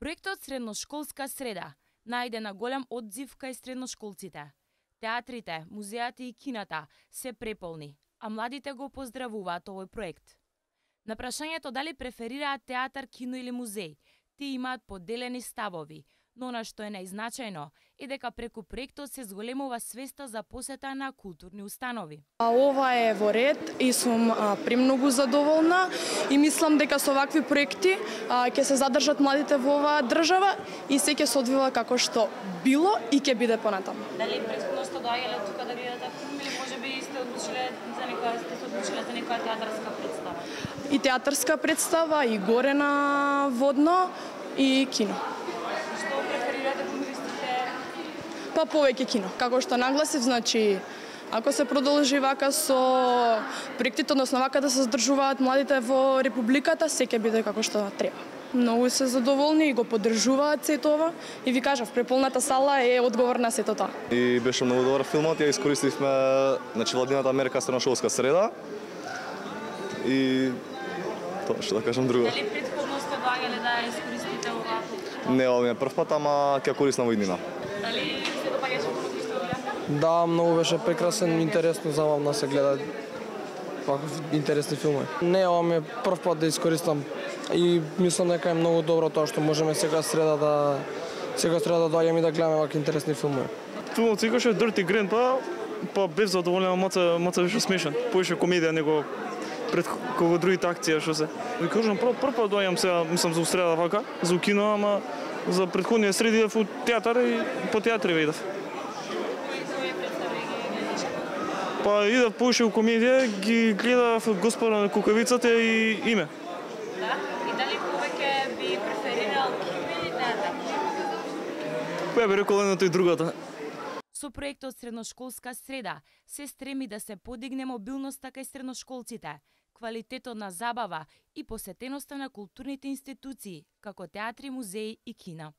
Проектот Средношколска среда најде на голем одзив кај средношколците. Театрите, музејата и кината се преполни, а младите го поздравуваат овој проект. На прашањето дали преферираат театар, кино или музеј, тие имаат поделени ставови, но она што е најзначајно е дека преку проектот се зголемува свеста за посета на културни установи. Ова е во ред и сум премногу задоволна и мислам дека со вакви проекти ќе се задржат младите во оваа држава и се ќе се одвива како што било и ќе биде понатаму. Дали претходно сте доаѓале тука да видите филм или можеби сте одлучиле за некоја театарска представа? И театарска представа, и горе на Водно, и кино. Што преферирате кога мислите? Па повеќе кино. Како што нагласив, значи, ако се продолжи вака со проектите, односно вака да се задржуваат младите во Републиката, се ќе биде како што треба. Многу се задоволни и го поддржуваат сето ова. И ви кажав, преполната сала е одговор на сето тоа. И беше многу добар филмот, ја искористивме, значи, владината мерка Средношколска среда. И тоа што да кажам друго. Дали претходно сте доаѓале да искористите ова? Не, ова ми е прв пат, ама ќе користам во иднина. Дали се допаѓаше филмот што гледате? Да, многу беше прекрасен, интересно, забавно се гледа. Вакви интересни филми. Не, ова ми е прв пат да искористам и мислам дека е многу добро тоа што можеме сега среда да доаѓаме и да гледаме вакви интересни филми. Филмот се викаше Dirty Grandpa, па бев задоволен, маца беше смешен. Поише комедија него пред кога другите акции што се. Ви кажам прв пат доаѓам сега, мислам за среда вака, за кино, ама за претходниот среди идев во театар и по театри видев. Па идев поише во комедија, ги гледав Господа на кукавицата и Име. Да? И дали повеќе би преферирал кино или театар? Па би рекол едното и другото. Со проектот Средношколска среда се стреми да се подигне мобилноста кај средношколците, квалитетот на забава и посетеноста на културните институции, како театри, музеи и кина.